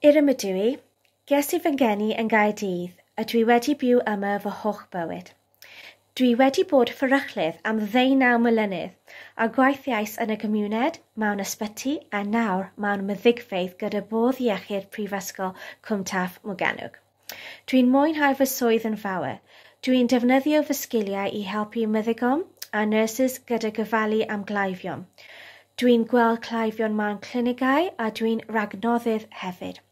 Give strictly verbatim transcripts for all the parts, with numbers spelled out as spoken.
Irem ydw i. Ges i fy ngeni yn Gaerdydd a dwi wedi byw yma fy holl bywyd. Dwi wedi bod fferyllydd am ddeunaw mlynedd a gweithiais yn y gymuned, mewn ysbyty a nawr mewn meddygfeydd gyda Bwrdd Iechyd Prifysgol Cwm Taf Morgannwg. Dwi'n mwynhau fy swydd yn fawr. Dwi'n defnyddio fy sgiliau i helpu meddygon a nyrsys gyda gofalu am gleifion. Dwi'n gweld cleifion mewn clinigau a dwi'n rhagnoddydd hefyd.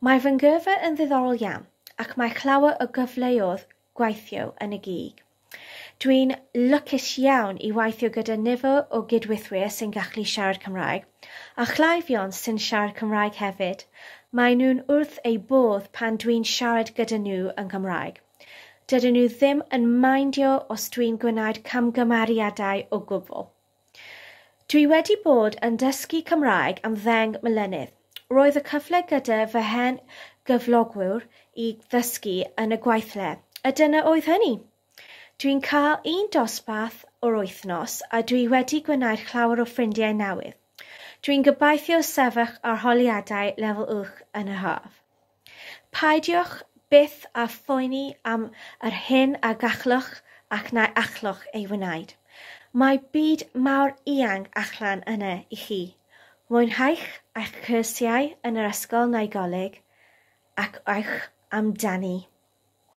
Mae fy ngyrfa yn ddiddorol iawn ac mae llawer o gyfleoedd gweithio yn y gig. Dwi'n lwcus iawn i weithio gyda nifer o gydweithwyr sy'n gallu siarad Cymraeg, a chleifion sy'n siarad Cymraeg hefyd. Maen nhw'n wrth eu bodd pan dwi'n siarad gyda nhw yn Cymraeg. Dydyn nhw ddim yn meindio os dwi'n gwneud camgymeriadau o gwbl. Dwi wedi bod yn dysgu Cymraeg am ddeng mlynedd. Roedd y cyfle gyda fy hen gyflogwyr i ddysgu yn y gweithle, a dyna oedd hynny. Dwi'n cael un dosbarth o'r wythnos a dwi wedi gwneud llawer o ffrindiau newydd. Dwi'n gobeithio sefyll arholiadau lefel uwch yn y haf. Peidiwch byth â phoeni am yr hyn a gallwch ac na allwch ei wneud. Mae byd mawr eang allan yna i chi. Mwynhewch eich cyrsiau yn yr ysgol neu goleg ac ewch amdani.